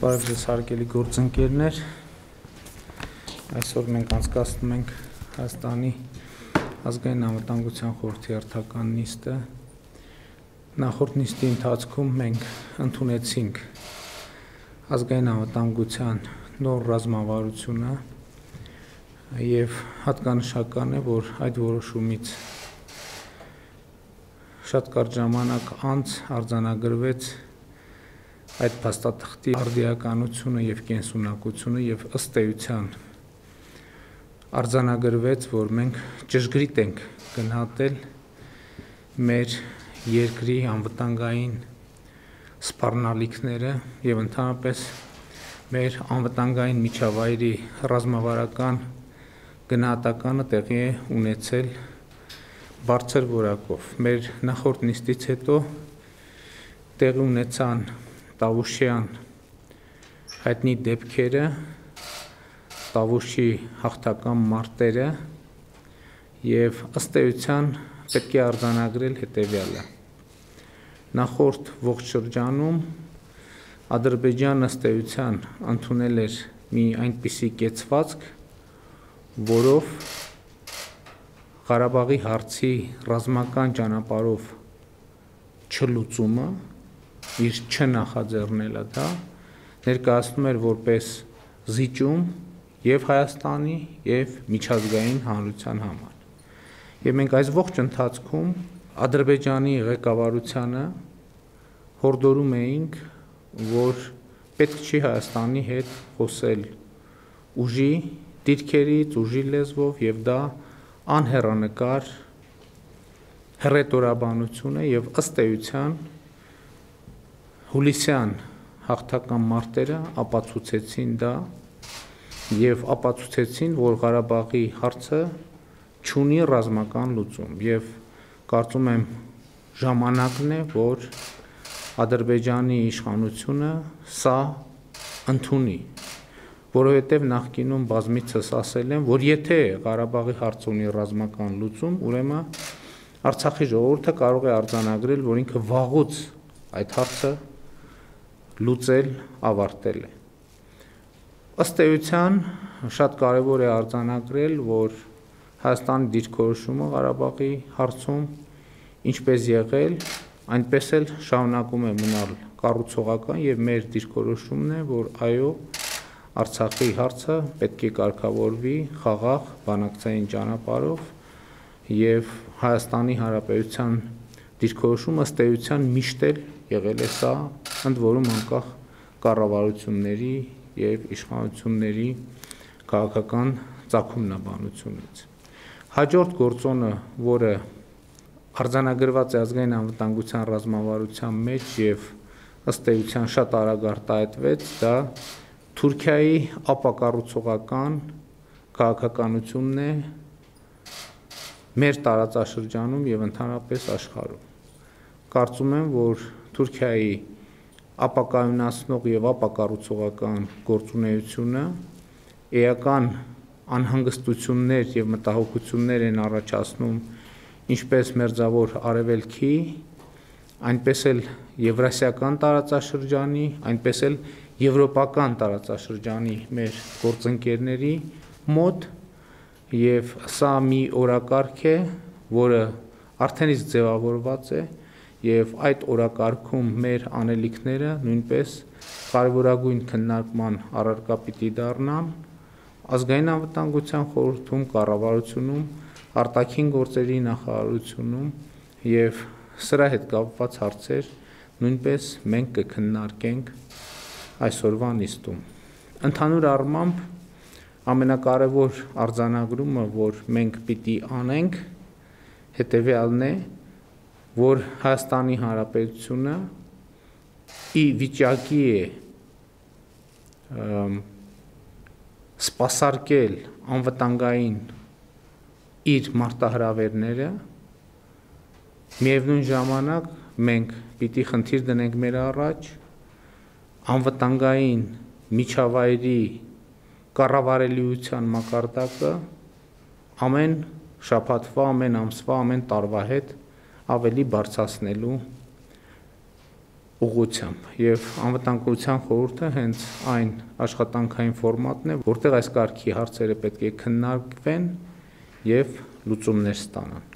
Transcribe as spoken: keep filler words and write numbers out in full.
Բարև ձեզ հարգելի գործընկերներ, այսօր մենք անցկացնում ենք Հայաստանի ազգային անվտանգության խորհրդի հերթական նիստը։ Նախորդ նիստի ընթացքում մենք ընդունեցինք ազգային անվտանգության նոր ռազմավարությունը եւ հատկանշական է, որ այդ որոշումից շատ կարճ ժամանակ անց արձանագրվեց այդ փաստաթղթի արդիականությունը եւ կենսունակությունը եւ ըստ էության արձանագրվեց, որ մենք ճշգրիտ ենք գնահատել մեր երկրի անվտանգային սպառնալիքները եւ ընդհանրապես մեր անվտանգային միջավայրի ռազմավարական գնահատականը տեղի է ունեցել բարձր որակով։ Մեր նախորդ նիստից հետո տեղի ունեցան Տավուշյան հայտնի դեպքերը, Տավուշի հաղթական մարտերը եւ ըստ էության պետք է արձանագրել հետեւյալը։ Նախորդ ողջ շրջանում Ադրբեջանը ըստ էության ընդունել էր մի այնպիսի կեցվածք, որով Ղարաբաղի հարցի ռազմական ճանապարհով չլուծումը իր չնախաձեռնելը դա ներկայացնում էր որպես զիջում եւ Հայաստանի եւ միջազգային հանրության համար։ Եվ մենք այս ողջ ընթացքում Ադրբեջանի ղեկավարությանը հորդորում էինք, որ պետք չի Հայաստանի հետ խոսել ուժի դիրքերից, ուժի լեզվով եւ դա անհեռանկար հռետորաբանություն է եւ ըստ էության հուլիսյան հաղթական մարտերը ապացուցեցին դա եւ ապացուցեցին, որ Ղարաբաղի հարցը չունի ռազմական լուծում եւ կարծում եմ ժամանակն է, որ Ադրբեջանի իշխանությունը սա ընդունի, որովհետեւ նախկինում բազմիցս ասել են, որ եթե Ղարաբաղի հարցը ունի ռազմական լուծում, ուրեմն Արցախի ժողովուրդը կարող է արձանագրել, որ ինքը վաղուց այդ հարցը լուծել ավարտել է։ Ըստ էության շատ կարևոր է արձանագրել, որ Հայաստանի դիրքորոշումը Ղարաբաղի հարցում ինչպես եղել, այնպես էլ շարունակում է մնալ կառուցողական եւ մեր դիրքորոշումն է, որ այո, Արցախի հարցը պետք է կարգավորվի խաղաղ բանակցային ճանապարհով եւ Հայաստանի Հանրապետության դիրքորոշումը ըստ էության միշտ էլ եղել է սա, ընդ որում անկախ կառավարությունների եւ իշխանությունների քաղաքական ծագումնաբանությունից։ Հաջորդ գործոնը, որը արձանագրված է ազգային անվտանգության ռազմավարության մեջ եւ ըստ էության շատ արագ արտահայտվեց, դա Թուրքիայի ապակառուցողական քաղաքականությունն է մեր տարածաշրջանում եւ ընդհանրապես աշխարհում։ Կարծում եմ, որ Թուրքիայի ապակայունացնող եւ ապակառուցողական գործունեությունը էական անհանգստություններ եւ մտահոգություններ են առաջացնում ինչպես մերձավոր արևելքի, այնպես էլ եվրասիական տարածաշրջանի, այնպես էլ եվրոպական տարածաշրջանի մեր գործընկերների մոտ եւ սա մի օրակարգ է, որը արդեն իսկ ձևավորված է եւ այդ օրակարգում մեր անելիքները նույնպես կարևորագույն քննարկման առարկա պիտի դառնան ազգային անվտանգության խորհրդում, կառավարությունում, արտաքին գործերի նախարարությունում եւ սրա հետ կապված հարցեր նույնպես մենք կքննարկենք այսօրվա նիստում։ Ընդհանուր առմամբ ամենակարևոր արձանագրումը, որ մենք պիտի անենք, հետեւյալն է, որ Հայաստանի Հանրապետությունը ի վիճակի է սպասարկել անվտանգային իր մարտահրավերները, միևնույն ժամանակ մենք պիտի խնդիր դնենք մեր առաջ անվտանգային միջավայրի կառավարելիության մակարդակը ամեն շաբաթվա, ամեն ամսվա, ամեն տարվա հետ ավելի բարձրացնելու ուղղությամբ եւ անվտանգության խորհուրդը հենց այն աշխատանքային ֆորմատն է, որտեղ այս կարգի հարցերը պետք է քննարկվեն եւ լուծումներ ստանան։